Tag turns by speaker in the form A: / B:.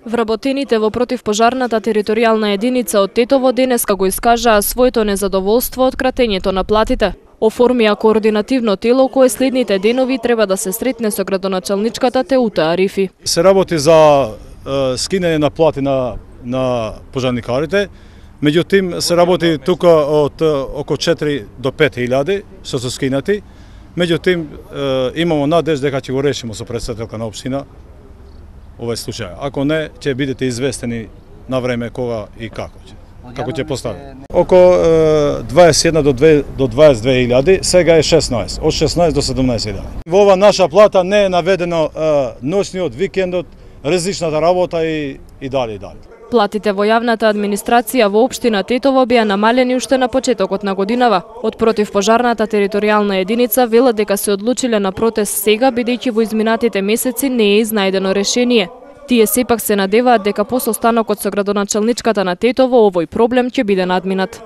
A: Вработените во противпожарната територијална единица од Тетово денеска го искажаа своето незадоволство од кратењето на платите. Оформија координативно тело кое следните денови треба да се сретне со градоначалничката Теута Арифи.
B: Се работи за скинење на плати на пожарникарите, меѓутоа се работи тука од околу 4 до 5.000 што се скинати. Меѓутоа имамо надеж дека ќе го решиме со претседателка на општина овој случај. Ако не, ќе бидете известени на време кога и како ќе постави. Околу 21 до 22.000, сега е 16, од 16 до 17.000. Во ова наша плата не е наведено ноќниот, викендот, различната работа и дали.
A: Платите во јавната администрација во општина Тетово беа намалени уште на почетокот на годинава. Од противпожарната територијална единица велат дека се одлучиле на протест сега, бидејќи во изминатите месеци не е изнајдено решение. Тие сепак се надеваат дека по состанокот со градоначалничката на Тетово овој проблем ќе биде надминат.